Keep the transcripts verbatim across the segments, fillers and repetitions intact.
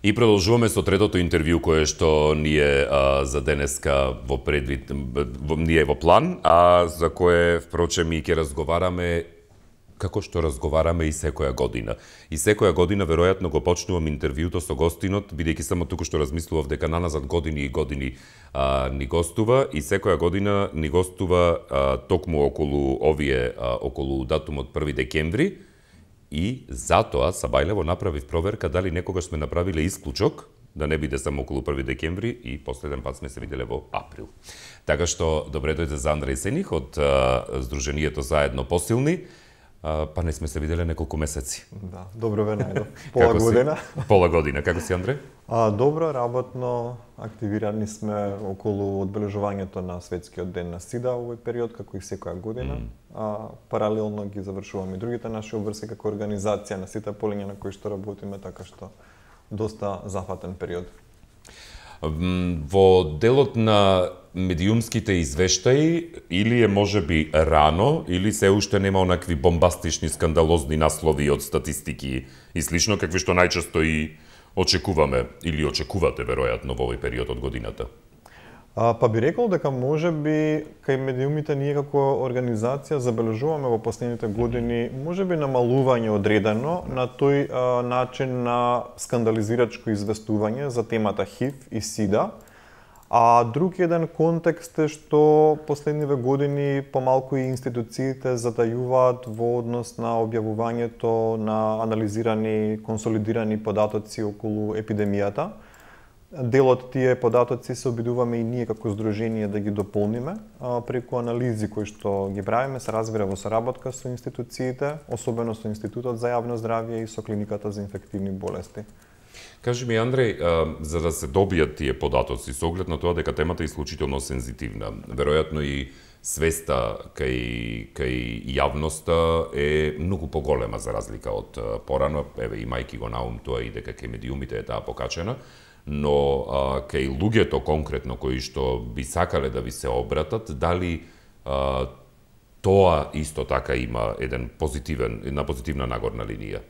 И продолжуваме со третото интервју кое што ни е а, за денеска во предвид, во, ни е во план, а за кое впрочем и ќе разговараме како што разговараме и секоја година. И секоја година веројатно го почнувам интервјуто со гостинот, бидејќи само туку што размислував дека наназад години и години а, ни гостува и секоја година ни гостува а, токму околу овие а, околу датумот први декември. И затоа Сабајлево направив проверка дали некогаш сме направиле исклучок, да не биде само околу први декември и последен пат сме се виделе во април. Така што добре дојде за Андреј Сених од а, Сдруженијето Заедно посилни, а, па не сме се виделе неколку месеци. Да, добро ве најдов. Пола година. Пола година. Како си, Андреј? А, добро, работно, активирани сме околу одбележувањето на Светскиот ден на СИДА овој период, како и секоја година. Mm. А, паралелно ги завршуваме и другите наши обврски како организација на сите полиња на кои што работиме, така што доста зафатен период. Во делот на медиумските извештаи, или е можеби рано, или се уште нема онакви бомбастични, скандалозни наслови од статистики и слично, какви што најчесто и очекуваме, или очекувате, веројатно, во овој период од годината? А, па би рекол дека може би кај медиумите ние како организација забележуваме во последните години може би намалување одредено на тој а, начин на скандализирачко известување за темата ХИВ и СИДА. А друг еден контекст е што последниве години помалку и институциите затајуваат во однос на објавувањето на анализирани, консолидирани податоци околу епидемијата. Дел од тие податоци се обидуваме и ние како здружение да ги дополниме а, преку анализи кои што ги правиме, се разбира во соработка со институциите, особено со Институтот за јавно здравје и со Клиниката за инфективни болести. Кажи ми, Андреј, а, за да се добијат тие податоци, со оглед на тоа дека темата е исклучително сензитивна, веројатно и свеста кај, кај јавноста е многу поголема за разлика од порано, еве имајќи го на ум тоа и дека кај медиумите е таа покачена, но а, кај луѓето конкретно кои што би сакале да ви се обратат, дали а, тоа исто така има еден позитивен, една позитивна нагорна линија?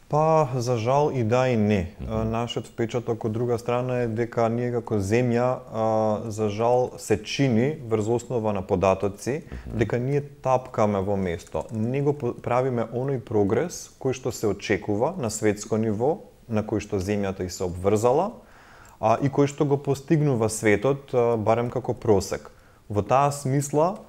Па, за жал и да и не. Mm-hmm. Нашиот впечаток од друга страна е дека ние како земја, а, за жал, се чини врз основа на податоци, mm-hmm. дека ние тапкаме во место. Не го правиме оној прогрес кој што се очекува на светско ниво, на кој што земјата и се обврзала, а, и кој што го постигнува светот, а, барем како просек. Во таа смисла,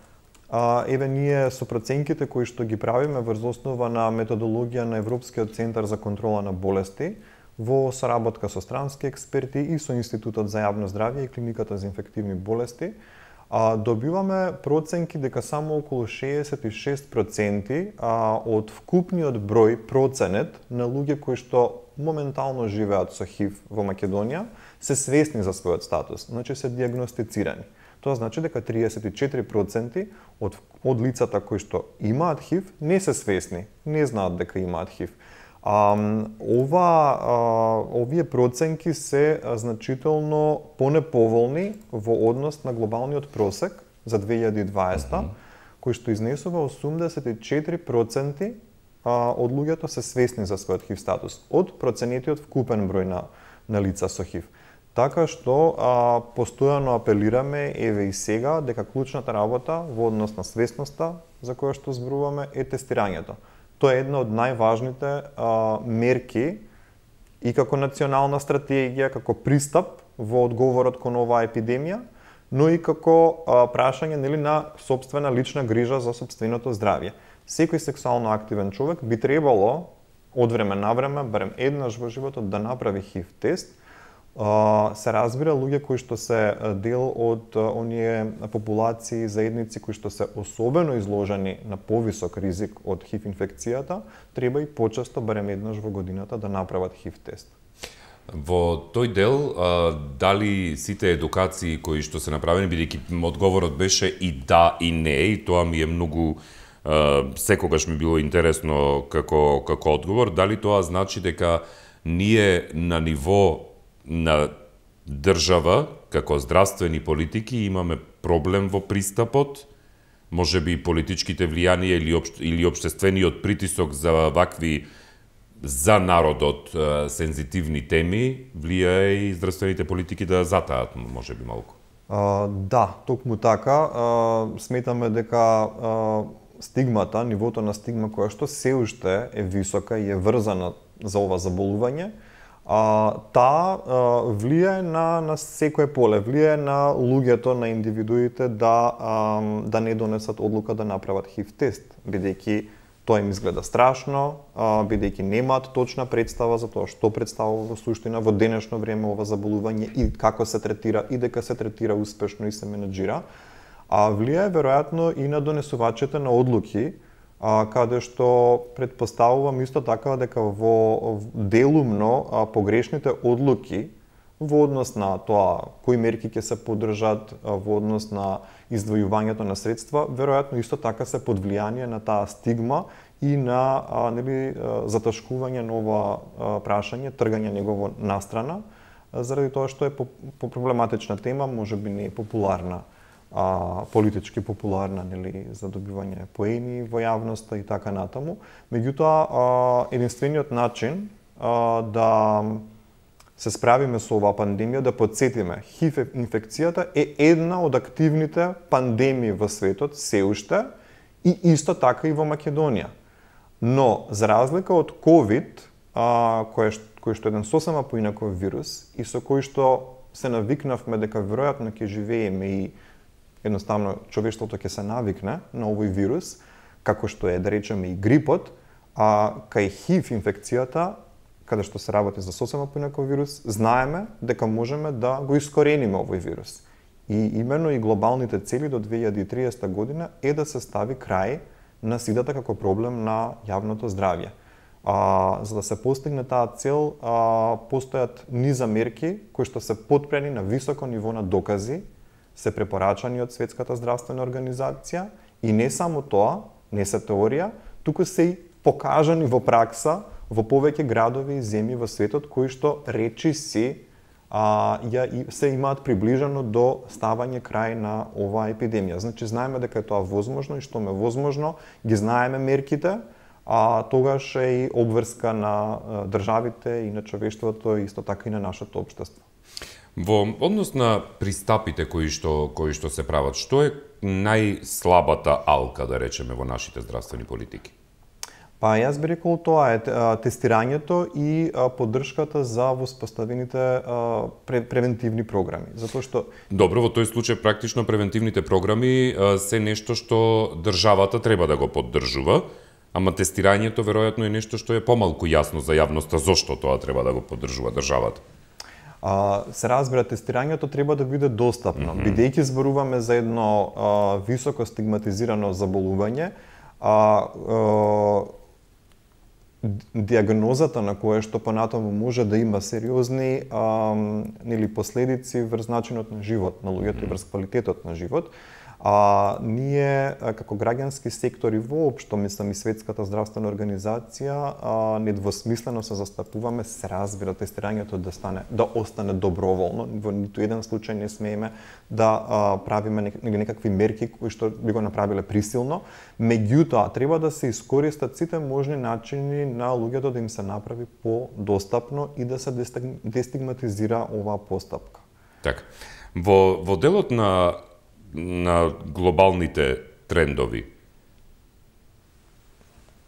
а, еве ние со проценките кои што ги правиме врз основа на методологија на Европскиот центар за контрола на болести, во соработка со странски експерти и со Институтот за јавно здравје и Клиниката за инфективни болести, а, добиваме проценки дека само околу шеесет и шест проценти а, од вкупниот број проценет на луѓе кои што моментално живеат со ХИВ во Македонија се свесни за својот статус, значи се диагностицирани. Тоа значи дека триесет и четири проценти од, од лицата кои што имаат ХИВ не се свесни, не знаат дека имаат ХИВ. А, ова, а, овие проценки се а, значително понеповолни во однос на глобалниот просек за две илјади и дваесета, mm-hmm. кој што изнесува осумдесет и четири проценти а, од луѓето се свесни за својот ХИВ статус, од проценетиот вкупен број на, на лица со ХИВ. Така што а, постојано апелираме, еве и сега, дека клучната работа во однос на свесноста за која што зборуваме е тестирањето. Тоа е една од најважните а, мерки и како национална стратегија, како пристап во одговорот кон оваа епидемија, но и како а, прашање нели, на сопствена лична грижа за сопственото здравје. Секој сексуално активен човек би требало од време на време, барем еднаш во животот, да направи ХИВ тест. Uh, се разбира луѓе кои што се дел од uh, оние популации, заедници кои што се особено изложени на повисок ризик од ХИВ инфекцијата, треба и почесто, барем еднаш во годината, да направат ХИВ тест. Во тој дел, а, дали сите едукации кои што се направени, бидејќи одговорот беше и да и не, и тоа ми е многу а, секогаш ми било интересно како како одговор, дали тоа значи дека ние на ниво на држава, како здравствени политики, имаме проблем во пристапот, може би политичките влијанија или, об, или обштествениот притисок за вакви за народот сензитивни теми влијае и здравствените политики да затаат, може би малку. А, да, токму така. А, сметаме дека а, стигмата, нивото на стигма која што се уште е висока и е врзана за ова заболување, а, таа влијае на, на секое поле, влијае на луѓето, на индивидуите да, а, да не донесат одлука да направат ХИВ тест, бидејќи тоа им изгледа страшно, а, бидејќи немаат точна представа за тоа што представува во суштина во денешно време ова заболување и како се третира и дека се третира успешно и се менеджира. А влијае веројатно и на донесувачите на одлуки, а, каде што предпоставувам исто така дека во делумно а, погрешните одлуки во однос на тоа кои мерки ќе се поддржат, а, во однос на издвојувањето на средства, веројатно исто така се под влијание на таа стигма и на а, нели заташкување на ова а, прашање, тргање негово настрана, а, заради тоа што е по, по проблематична тема, можеби не е популарна, а, политички популарна, нели, за добивање поени во јавноста и така натаму. Меѓутоа, единствениот начин а, да се справиме со оваа пандемија, да подсетиме, ХИВ инфекцијата е една од активните пандемии во светот се уште и исто така и во Македонија. Но, за разлика од ковид, а, кој, кој што е еден сосема поинаков вирус и со кој што се навикнавме дека веројатно ќе живееме и едноставно човештвото ќе се навикне на овој вирус, како што е, да речеме, и грипот, а кај ХИВ инфекцијата, каде што се работи за сосема поинаков вирус, знаеме дека можеме да го искорениме овој вирус. И имено и глобалните цели до две илјади и триесета година е да се стави крај на сидата како проблем на јавното здравје. А, за да се постигне таа цел, а, постојат низа мерки кои што се потпрени на високо ниво на докази, се препорачани од Светската здравствена организација и не само тоа, не се теорија, туку се и покажани во пракса во повеќе градови и земји во светот кои што речи си а, ја, и, се имаат приближено до ставање крај на оваа епидемија. Значи, знаеме дека е тоа возможно и што ме возможно, ги знаеме мерките, а тогаш е и обврска на а, државите и на човештвото и исто така и на нашето општество. Во однос на пристапите кои што кои што се прават, што е најслабата алка, да речеме, во нашите здравствени политики? Па јас би рекол тоа е тестирањето и поддршката за воспоставените превентивни програми, затоа што Добро, во тој случај практично превентивните програми се нешто што државата треба да го поддржува, ама тестирањето веројатно е нешто што е помалку јасно за јавноста зошто тоа треба да го поддржува државата. А, се разбира, тестирањето треба да биде достапно, mm-hmm. бидејќи зборуваме за едно а, високо стигматизирано заболување, а, а диагнозата на кое што понатаму може да има сериозни а, нели последици врз начинот на живот на луѓето и врз квалитетот на живот. А ние како граѓански сектори воопшто, мислам и Светската здравствена организација, а, недвосмислено се застапуваме, се разбира тестирањето да стане да остане доброволно, во ниту еден случај не смееме да а, правиме нек, некакви мерки кои што би го направиле присилно, меѓутоа треба да се искористат сите можни начини на луѓето да им се направи подостапно и да се дестигматизира оваа постапка. Така. Во во делот на на глобалните трендови.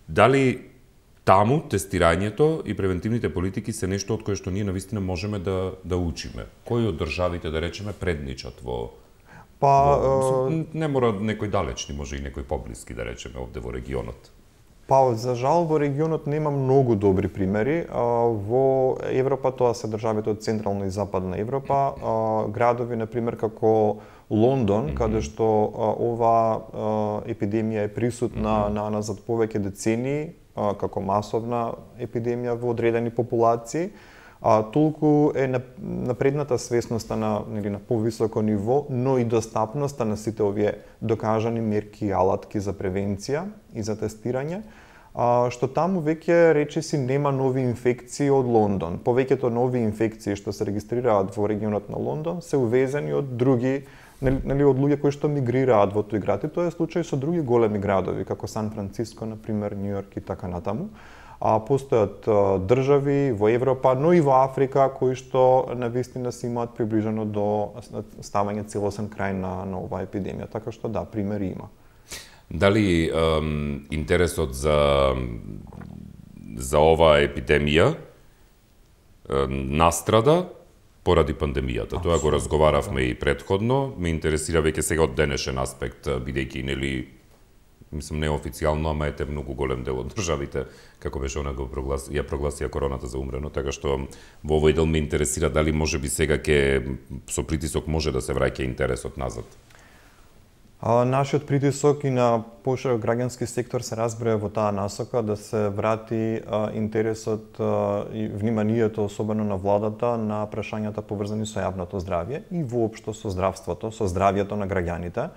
Дали таму тестирањето и превентивните политики се нешто од кое што ние навистина можеме да да учиме? Кои од државите, да речеме, предничат во Па во, не мора некој далечни, може и некој поблиски, да речеме, овде во регионот. Па, за жал, во регионот нема многу добри примери. Во Европа тоа се државите од Централна и Западна Европа, градови, например, како Лондон, mm-hmm. каде што оваа епидемија е присутна mm-hmm. на назад повеќе децении, како масовна епидемија во одредени популации, а, толку е напредната свесноста на, нели, на повисоко ниво, но и достапноста на сите овие докажани мерки и алатки за превенција и за тестирање, а, што таму веќе речиси нема нови инфекции од Лондон. Повеќето нови инфекции што се регистрираат во регионот на Лондон се увезени од други, нели, од луѓе кои што мигрираат во тој град. И тоа е случај со други големи градови, како Сан Франциско, например, Њујорк и така натаму. А постојат држави во Европа, но и во Африка кои што навистина се имаат приближено до ставање целосен крај на, на оваа епидемија. Така што да, примери има. Дали ем, интересот за за оваа епидемија ем, настрада поради пандемијата? Тоа го разговаравме да. и предходно. Ме интересира веќе сега од денешен аспект, бидејќи нели мислам неофицијално, ама ете многу голем дел од државите, како беше она го прогласи, ја прогласија короната за умрено, така што во овој дел ме интересира дали можеби сега ќе со притисок може да се враќа интересот назад. А, нашиот притисок и на поширок граѓански сектор се разбира во таа насока да се врати а, интересот а, и вниманието особено на владата на прашањата поврзани со јавното здравје и воопшто со здравството, со здравјето на граѓаните.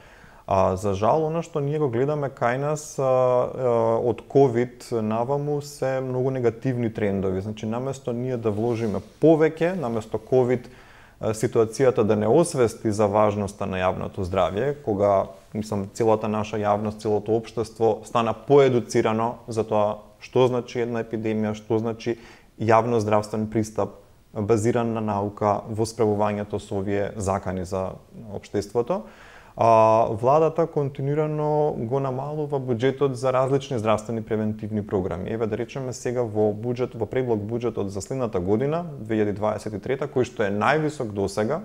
А, за жал, она што ние го гледаме кај нас а, а, од ковид наваму се многу негативни трендови. Значи, наместо ние да вложиме повеќе, наместо ковид ситуацијата да не освести за важноста на јавното здравје, кога мислам целата наша јавност, целото општество стана поедуцирано за тоа што значи една епидемија, што значи јавно здравствен пристап базиран на наука во справувањето со овие закани за општеството. А, владата континуирано го намалува буџетот за различни здравствени превентивни програми. Еве да речеме сега во буџет, во предлог буџетот за следната година, две илјади дваесет и трета, кој што е највисок досега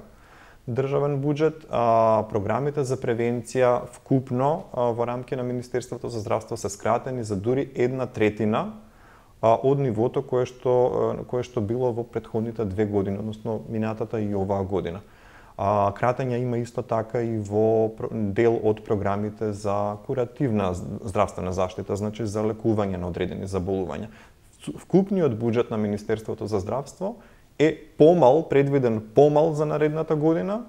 државен буџет, а, програмите за превенција вкупно а, во рамки на Министерството за здравство се скратени за дури една третина а, од нивото кое што кое што било во претходните две години, односно минатата и оваа година. А, кратења има исто така и во дел од програмите за куративна здравствена заштита, значи за лекување на одредени заболувања. Вкупниот буџет на Министерството за здравство е помал, предвиден помал за наредната година,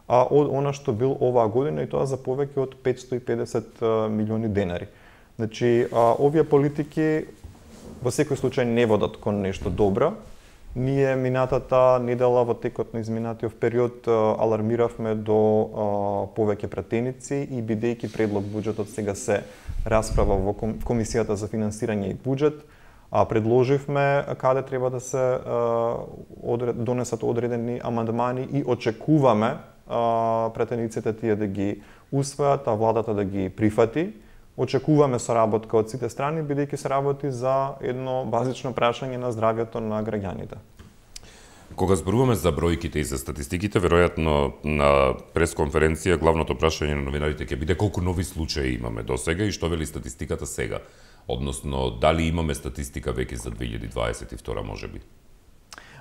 а од она што бил оваа година и тоа за повеќе од петсто и педесет милиони денари. Значи, а, овие политики во секој случај не водат кон нешто добро. Ние минатата недела во текот на изминатиот период алармиравме до а, повеќе пратеници и бидејќи предлог буџетот сега се расправа во Комисијата за финансирање и буџет, а, предложивме каде треба да се а, одред, донесат одредени амандмани и очекуваме а, пратениците тие да ги усвојат, а владата да ги прифати. Очекуваме соработка од сите страни, бидејќи се работи за едно базично прашање на здравјето на граѓаните. Кога зборуваме за бројките и за статистиките, веројатно на пресконференција главното прашање на новинарите ќе биде колку нови случаи имаме досега и што вели статистиката сега, односно дали имаме статистика веќе за две илјади дваесет и втора можеби.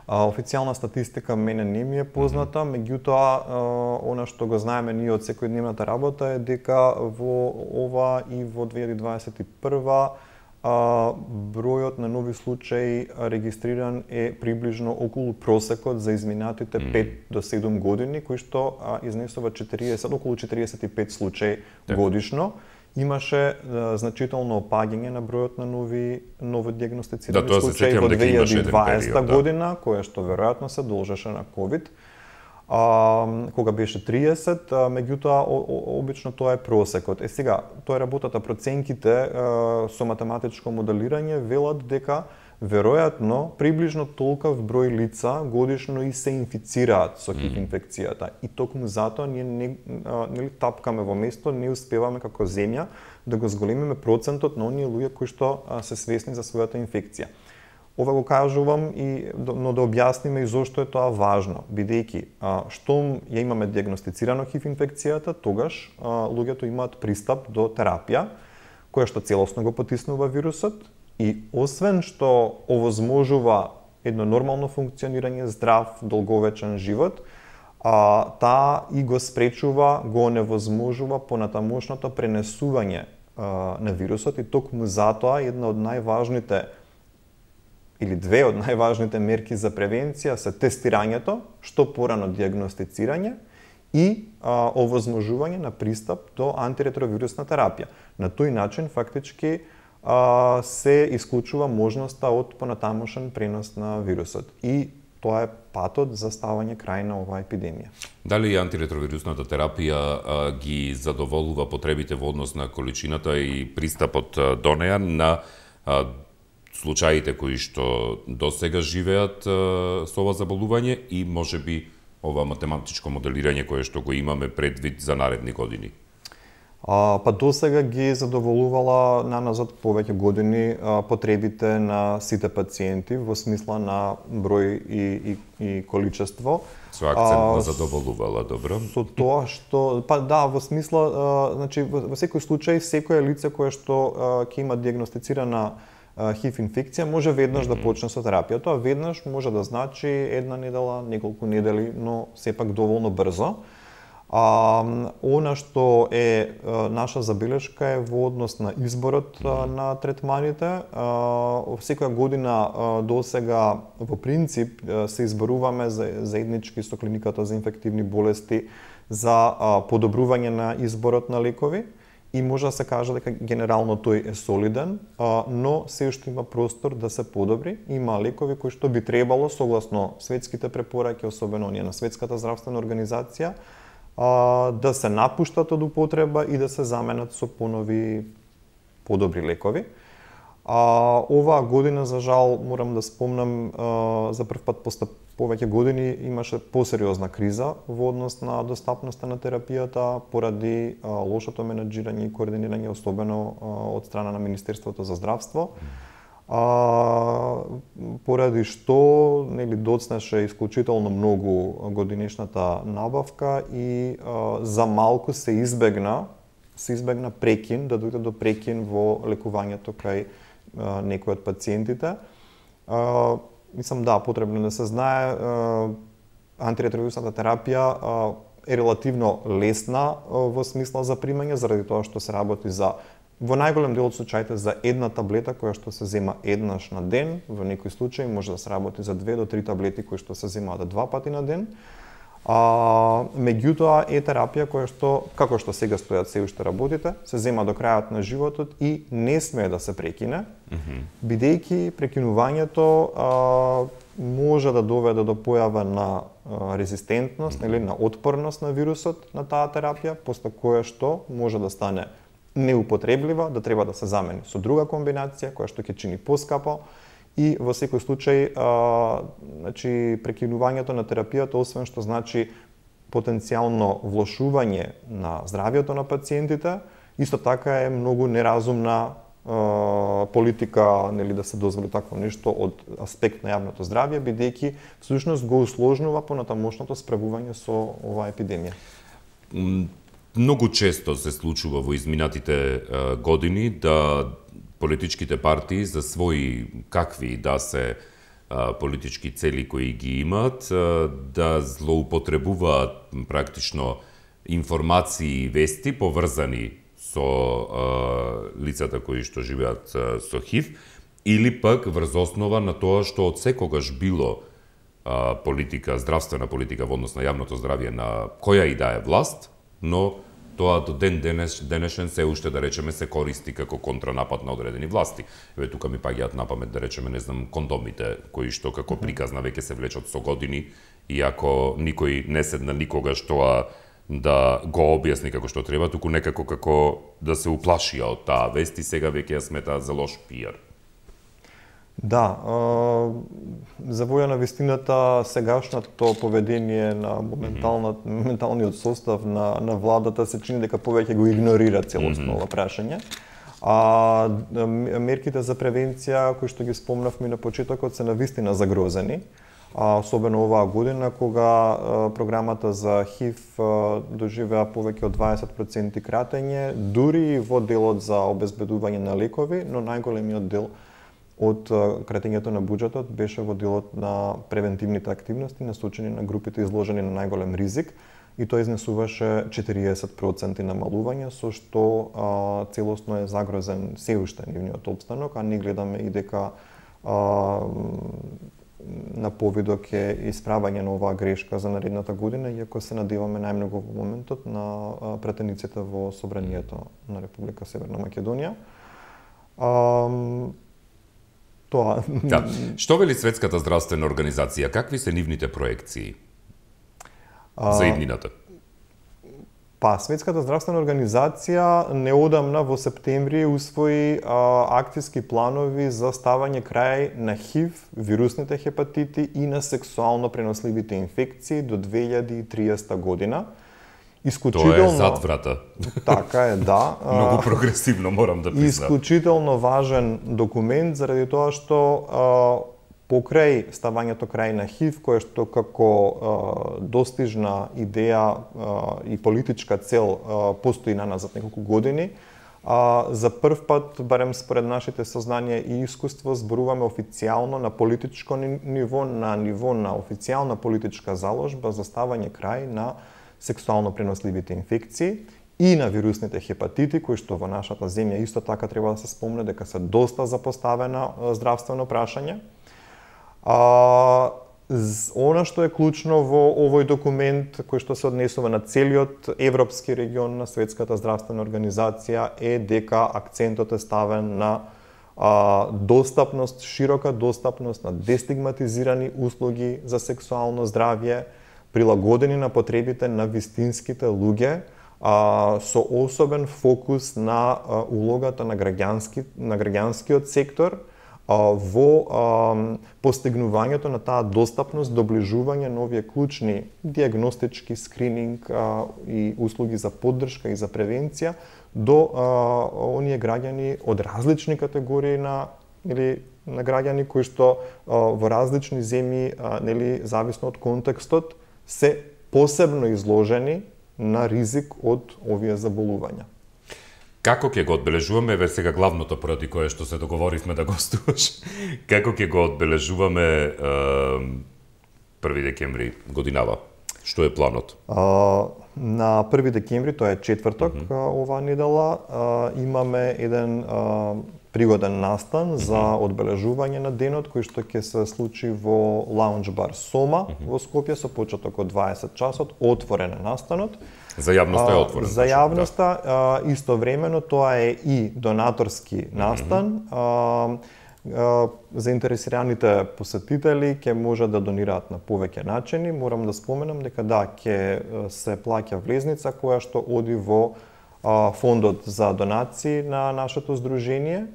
А, официјална статистика мене не ми е позната, mm-hmm. меѓутоа она што го знаеме ние од секојдневната работа е дека во ова и во две илјади дваесет и прва а, бројот на нови случаи регистриран е приближно околу просекот за изминатите mm-hmm. пет до седум години, кои што а, изнесува четириесет, околу четириесет и пет случаи yeah. годишно. Имаше а, значително опаѓање на бројот на нови ново диагностицирани да, случаи во две илјади и дваесета период, година, да. Која што веројатно се должеше на ковид. А, кога беше триесет, а, меѓутоа обично тоа е просекот. Е сега, тоа е работата, проценките а, со математичко моделирање велат дека веројатно приближно толков број лица годишно и се инфицираат со хив инфекцијата. И токму затоа ние не, нели тапкаме во место, не успеваме како земја да го зголемиме процентот на оние луѓе кои што а, се свесни за својата инфекција. Ова го кажувам и но да објасниме и зошто е тоа важно, бидејќи штом ја имаме диагностицирано хив инфекцијата, тогаш а, луѓето имаат пристап до терапија која што целосно го потиснува вирусот. И освен што овозможува едно нормално функционирање, здрав, долговечен живот, а, таа и го спречува, го невозможува понатамошното пренесување а, на вирусот и токму затоа една од најважните или две од најважните мерки за превенција се тестирањето, што порано диагностицирање и а, овозможување на пристап до антиретровирусна терапија. На тој начин фактички Uh, се исклучува можноста од понатамошен пренос на вирусот. И тоа е патот за ставање крај на оваа епидемија. Дали антиретровирусната терапија а, ги задоволува потребите во однос на количината и пристапот а, до неа на а, случаите кои што досега живеат а, со ова заболување и можеби ова математичко моделирање кое што го имаме предвид за наредни години? А, па досега ги задоволувала наназад повеќе години а, потребите на сите пациенти во смисла на број и, и, и количество. Со акцент на задоволувала, добро. Со тоа што, па да, во смисла, а, значи во, во секој случај секое лице кое што ќе има диагностицирана ХИВ инфекција може веднаш mm-hmm. да почне со терапија. Тоа веднаш може да значи една недела, неколку недели, но сепак доволно брзо. А, она што е а, наша забелешка е во однос на изборот а, на третманите. А, секоја година а, досега во принцип а, се изборуваме за, заеднички со клиниката за инфективни болести за а, подобрување на изборот на лекови и може да се каже дека генерално тој е солиден, а, но се уште има простор да се подобри. Има лекови кои што би требало согласно светските препораки, особено оние на Светската здравствена организација, да се напуштат од употреба и да се заменат со понови подобри лекови. А, оваа година, за жал, морам да спомнам, а, за прв пат после повеќе години имаше посериозна криза во однос на достапноста на терапијата поради а, лошото менаџирање и координирање, особено а, од страна на Министерството за здравство. А, поради што нели доцнеше исклучително многу годинешната набавка и а, за малку се избегна се избегна прекин, да дојде до прекин во лекувањето кај а, некои од пациентите. А, мислам да, потребно да се знае, а, антиретровирусната терапија а, е релативно лесна а, во смисла за примање, заради тоа што се работи за во најголем дел од случаите за една таблета која што се зема еднаш на ден, во некои случаи може да се работи за две до три таблети кои што се земаат два пати на ден. А, меѓутоа е терапија која што, како што сега стојат се уште работите, се зема до крајот на животот и не смее да се прекине, mm-hmm. бидејќи прекинувањето а, може да доведе до појава на а, резистентност mm-hmm. или на отпорност на вирусот на таа терапија, после која што може да стане неупотреблива, да треба да се замени со друга комбинација која што ќе чини поскапо и во секој случај а, значи прекинувањето на терапијата, освен што значи потенцијално влошување на здравјето на пациентите, исто така е многу неразумна а, политика, нели, да се дозволи такво нешто од аспект на јавното здравје, бидејќи всушност го усложнува понатамошното справување со оваа епидемија. Многу често се случува во изминатите а, години да политичките партии за своји какви да се а, политички цели кои ги имаат, а, да злоупотребуваат практично информации и вести поврзани со а, лицата кои што живеат а, со ХИВ, или пак врз основа на тоа што од секогаш било а, политика, здравствена политика во однос на јавното здравје на која и да е власт, но тоа до ден денес, денешен се уште, да речеме, се користи како контранапад на одредени власти. Еве тука ми паѓаат на памет, да речеме, не знам, кондомите, кои што како приказна веќе се влечат со години, иако никој не седна никогаш тоа да го објасни како што треба, туку некако како да се уплашија од таа вест и сега веќе ја сметаат за лош пиар. Да, за воја на вистината, сегашното поведение на моменталниот состав на, на владата се чини дека повеќе го игнорира целосно ова прашање. А мерките за превенција кои што ги спомнавме на почетокот се навистина загрозени. А, особено оваа година кога а, програмата за ХИВ а, доживеа повеќе од дваесет проценти кратење, дури во делот за обезбедување на лекови, но најголемиот дел од кратењето на буџетот беше во делот на превентивните активности насочени на групите изложени на најголем ризик и тоа изнесуваше четириесет проценти намалување, со што а, целосно е загрозен се уште нивниот опстанок, а ние гледаме и дека а, на повидок е исправање на оваа грешка за наредната година, иако се надеваме најмногу во моментот на претениците во Собранието на Република Северна Македонија. А, Тоа. Да. Што вели Светската здравствена организација? Какви се нивните проекции а, за иднината? Па, Светската здравствена организација неодамна во септември усвои а, акцијски планови за ставање крај на ХИВ, вирусните хепатити и на сексуално преносливите инфекции до две илјади и триесета година. Исклучително... Тоа е зад врата. Така е, да. Многу прогресивно, морам да признам. Исклучително важен документ, заради тоа што а, покрај ставањето крај на ХИВ, кое што како а, достижна идеја а, и политичка цел а, постои наназад неколку години, а, за прв пат, барем според нашите сознанија и искуство, зборуваме официјално на политичко ниво, на ниво на официјална политичка заложба за ставање крај на сексуално преносливите инфекции и на вирусните хепатити, кои што во нашата земја исто така треба да се спомне дека се доста запоставена здравствено прашање. А, она што е клучно во овој документ, кој што се однесува на целиот европски регион на Светската здравствена организација, е дека акцентот е ставен на а, достапност, широка достапност на дестигматизирани услуги за сексуално здравје, прилагодени на потребите на вистинските луѓе, а, со особен фокус на а, улогата на граѓански на граѓанскиот сектор а, во а, постигнувањето на таа достапност, доближување на овие клучни диагностички, скрининг а, и услуги за поддршка и за превенција до а, оние граѓани од различни категории на или на граѓани кои што а, во различни земји, а, нели зависно од контекстот, се посебно изложени на ризик од овие заболувања. Како ќе го одбележуваме, ве сега главното поради кое што се договоривме да гостуваш, како ќе го одбележуваме е, први декември годинава? Што е планот? А, на први декември, тоа е четврток, mm -hmm. оваа недела, а, имаме еден а, пригоден настан за одбележување на денот, кој што ќе се случи во лаунџ бар Сома во Скопје со почеток од дваесет часот, отворен е настанот. За јавноста е отворен. За јавноста, да. Истовремено тоа е и донаторски настан. Mm -hmm. Заинтересираните посетители ќе можат да донираат на повеќе начини. Морам да споменам дека да, ќе се плаќа влезница која што оди во фондот за донации на нашето здружение.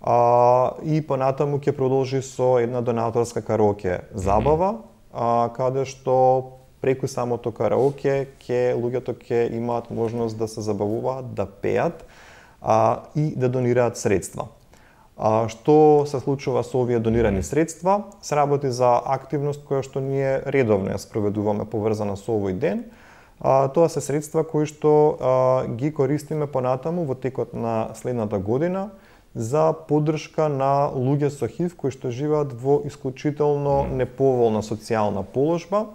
А, и понатаму ќе продолжи со една донаторска караоке забава, а, каде што преку самото караоке ќе луѓето ќе имаат можност да се забавуваат, да пеат а, и да донираат средства. А, што се случува со овие донирани средства? Се работи за активност која што ние редовно ја спроведуваме поврзана со овој ден. А, тоа се средства кои што а, ги користиме понатаму во текот на следната година за поддршка на луѓе со ХИВ кои што живеат во исклучително неповолна социјална положба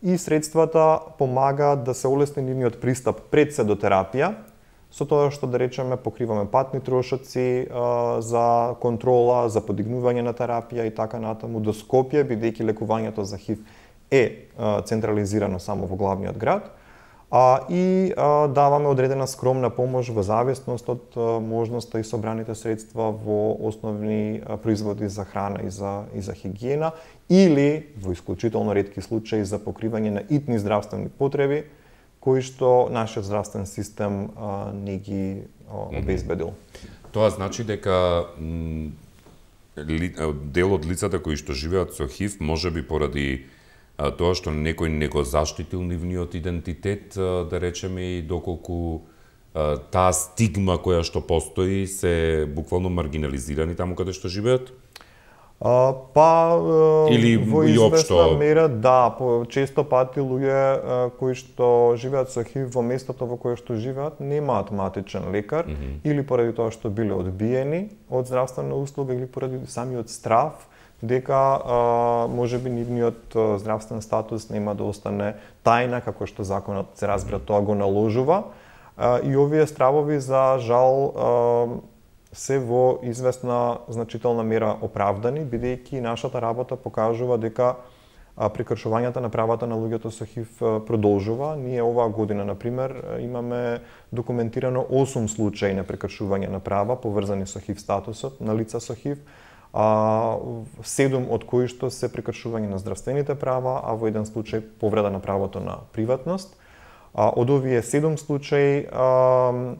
и средствата помагаат да се олесни нивниот пристап пред се до терапија, со тоа што да речеме покриваме патни трошоци а, за контрола, за подигнување на терапија и така натаму до Скопје, бидејќи лекувањето за ХИВ е а, централизирано само во главниот град. А, и а, даваме одредена скромна помош во зависност од а, можноста и собраните средства во основни а, производи за храна и за, и за хигиена или во исклучително ретки случаи за покривање на итни здравствени потреби кои што нашиот здравствен систем а, не ги а, обезбедил. Тоа значи дека ли, дел од лицата кои што живеат со ХИВ можеби поради тоа што некој не го заштитил нивниот идентитет, да речеме, и доколку таа стигма која што постои се буквално маргинализирани таму каде што живеат? А, па, или во известна мера, да, по, често пати луѓе кои што живеат со ХИВ во местото во кое што живеат немаат матичен лекар, mm -hmm. или поради тоа што биле одбиени од здравствена услуга или поради самиот страв дека а, можеби нивниот а, здравствен статус нема да остане тајна, како што законот се разбира тоа го наложува. А, и овие стравови за жал а, се во известна значителна мера оправдани, бидејќи нашата работа покажува дека а, прекршувањата на правата на луѓето со ХИВ а, продолжува. Ние оваа година, например, имаме документирано осум случаи на прекршување на права поврзани со ХИВ статусот на лица со ХИВ, а седум од кои што се прекршување на здравствените права, а во еден случај повреда на правото на приватност. А, од овие седум случаи, а,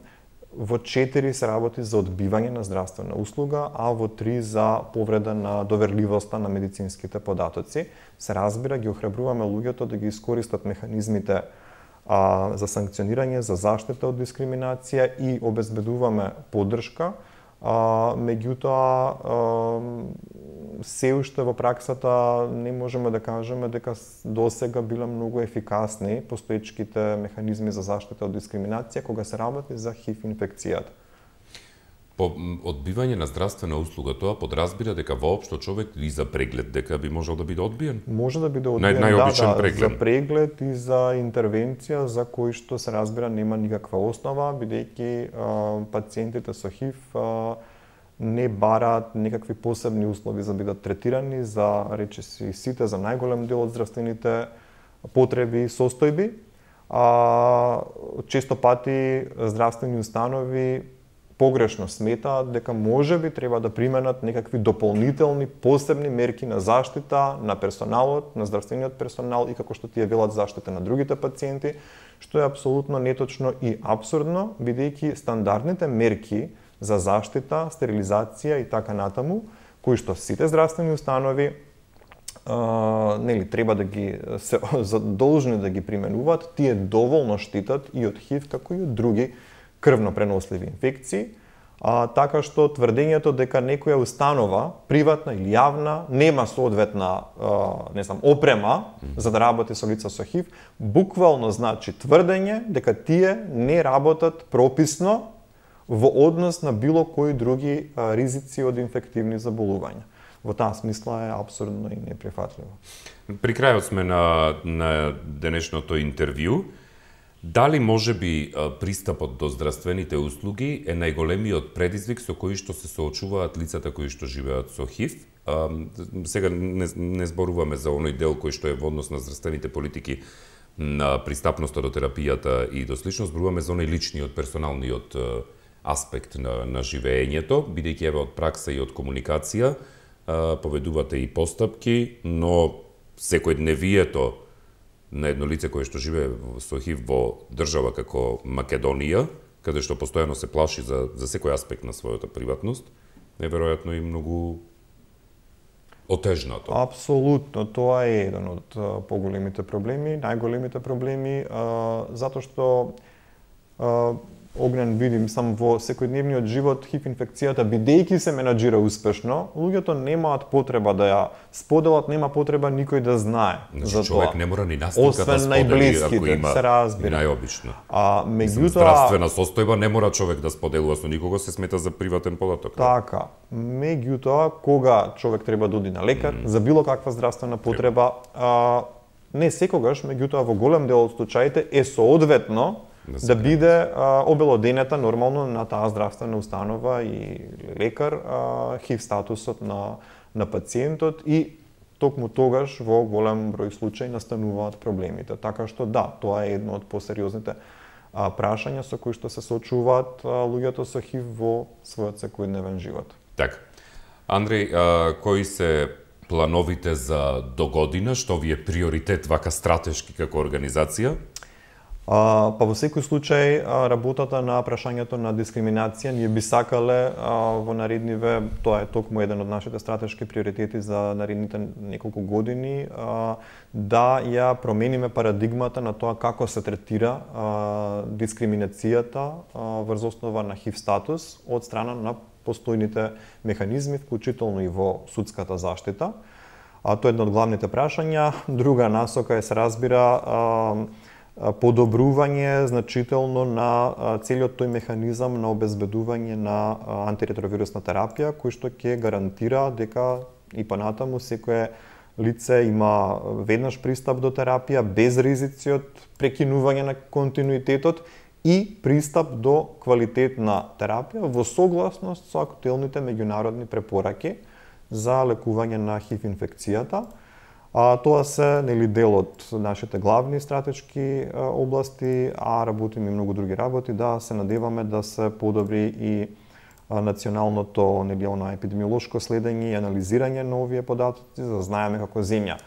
во четири се работи за одбивање на здравствена услуга, а во три за повреда на доверливоста на медицинските податоци. Се разбира, ги охрабруваме луѓето да ги искористат механизмите а, за санкционирање, за заштита од дискриминација и обезбедуваме поддршка. А, меѓутоа, а, се уште во праксата не можеме да кажеме дека досега биле многу ефикасни постоечките механизми за заштита од дискриминација кога се работи за ХИВ инфекцијата. По одбивање на здравствена услуга, тоа подразбира дека воопшто човек и за преглед дека би можел да биде одбиен? Може да биде одбиен, Нај, најобичен да, да, преглед. за преглед и за интервенција за кој што се разбира нема никаква основа, бидејќи пациентите со ХИВ а, не бараат некакви посебни услови за да бидат третирани за речиси сите, за најголем дел од здравствените потреби и состојби. А, често пати здравствени установи погрешно сметаат дека можеби треба да применат некакви дополнителни посебни мерки на заштита на персоналот, на здравствениот персонал и како што тие велат заштита на другите пациенти, што е апсолутно неточно и апсурдно, бидејќи стандардните мерки за заштита, стерилизација и така натаму, кои што сите здравствени установи а, нели треба да ги се задолжни да ги применуваат, тие доволно штитат и од ХИВ како и од други крвно преносливи инфекции, а, така што тврдењето дека некоја установа, приватна или јавна, нема соодветна а, не знам, опрема за да работи со лица со ХИВ, буквално значи тврдење дека тие не работат прописно во однос на било кои други а, ризици од инфективни заболувања. Во таа смисла е апсурдно и неприфатливо. При крајот сме на, на денешното интервју. Дали може би пристапот до здравствените услуги е најголемиот предизвик со кој што се соочуваат лицата кои што живеат со ХИВ? А, сега не, не зборуваме за оној дел кој што е во однос на здравствените политики на пристапноста до терапијата и до слично, зборуваме за оној личниот, персоналниот аспект на, на живеењето, бидејќи еве од пракса и од комуникација а, поведувате и постапки, но секојдневието на едно лице кое што живее со ХИВ во држава како Македонија, каде што постојано се плаши за, за секој аспект на својата приватност, е веројатно и многу отежнато. Апсолутно, тоа е еден од поголемите проблеми, најголемите проблеми, а, затоа што а, Огнен видим сам во секојдневниот живот ХИВ инфекцијата, бидејќи се менаџира успешно, луѓето немаат потреба да ја споделат, нема потреба никој да знае значи, за тоа. Човек не мора ни настика да сподели ако има се разбира. Најобично. А меѓутоа здравствена состојба не мора човек да споделува со никого, се смета за приватен податок. Така. Меѓутоа кога човек треба да оди на лекар mm. за било каква здравствена потреба, а, не секогаш, меѓутоа во голем дел од случаите е соодветно да, да биде а, обелоденета нормално на таа здравствена установа и лекар а, ХИВ статусот на на пациентот и токму тогаш во голем број случаи настануваат проблемите. Така што да, тоа е едно од посериозните а, прашања со кои што се соочуваат а, луѓето со ХИВ во својот секојдневен живот. Така. Андреј, а, кои се плановите за до година, што ви е приоритет вака стратешки како организација? А, па во секој случај работата на прашањето на дискриминација ние би сакале а, во наредниве, тоа е токму еден од нашите стратешки приоритети за наредните неколку години, а, да ја промениме парадигмата на тоа како се третира а, дискриминацијата а, врз основа на ХИВ статус од страна на постојните механизми, вклучително и во судската заштита. А тоа е едно од главните прашања. Друга насока е, се разбира, а, подобрување значително на целиот тој механизам на обезбедување на антиретровирусна терапија, кој што ќе гарантира дека и понатаму секое лице има веднаш пристап до терапија без ризици од прекинување на континуитетот и пристап до квалитетна терапија во согласност со актуелните меѓународни препораки за лекување на ХИВ инфекцијата. А, тоа се нели дел од нашите главни стратешки а, области, а работиме и многу други работи, да се надеваме да се подобри и а, националното нели она епидемиолошко следење и анализирање на овие податоци, за да знаеме како земја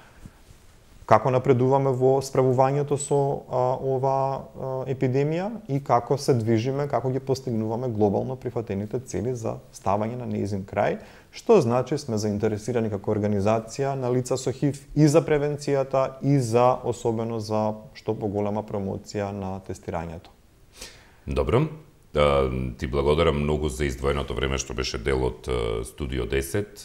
како напредуваме во справувањето со а, ова а, епидемија и како се движиме, како ги постигнуваме глобално прифатените цели за ставање на нејзин крај, што значи сме заинтересирани како организација на лица со ХИВ и за превенцијата и за особено за што поголема промоција на тестирањето. Добро. Ти благодарам многу за издвоеното време што беше дел од Студио десет.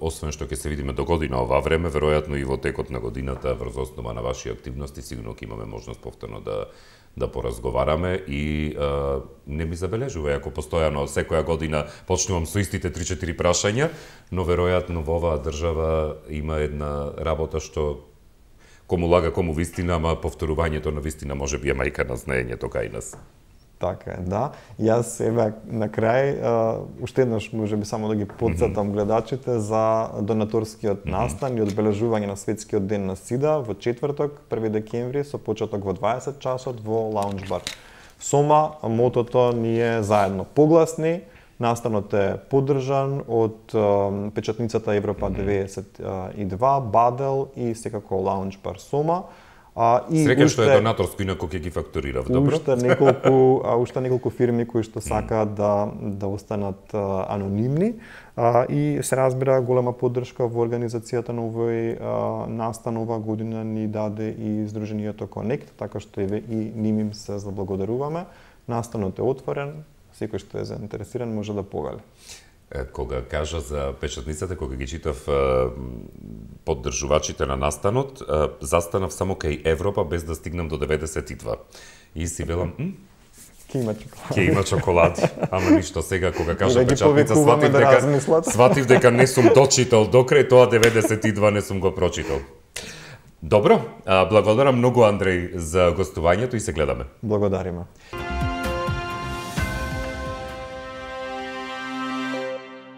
Освен што ќе се видиме до година ова време, веројатно и во текот на годината врз основа на ваши активности сигурно ќе имаме можност повторно да да поразговараме и а, не ми забележува ако постојано секоја година почнувам со истите три-четири прашања, но веројатно во оваа држава има една работа што кому лага, кому вистина, ама повторувањето на вистина може би е мајка на знаењето кај нас. Така е, да. Јас еве на крај уште еднаш можеби само да ги потсетам гледачите за донаторскиот настан и одбележување на светскиот ден на СИДА во четврток, први декември, со почеток во дваесет часот во Лаунж бар Сома. Мотото ни е заедно погласни. Настанот е поддржан од печатницата Европа деветдесет и два, Бадел и секако Лаунж бар Сома. А, и Среќа уште, што е донаторско, инаку ќе ги фактурирав, добро? Уште неколку, а, уште неколку фирми кои што сакаат да, да останат а, анонимни а, и се разбира голема поддршка во организацијата на овој а, настан ова година ни даде и Сдруженијето Конект, така што еве и ним им се заблагодаруваме. Настанот е отворен, секој што е заинтересиран може да повели. Кога кажа за печатницата, кога ги читав поддржувачите на настанот, застанав само кај Европа без да стигнам до деветдесет и два. И си велам, Ке има чоколади. Ке има чоколади. Ама ништо, сега кога кажа да печатница, сватив да дека, сватив дека не сум дочитал докрај, тоа деветдесет и два не сум го прочитал. Добро, благодарам многу Андреј за гостувањето и се гледаме. Благодариме.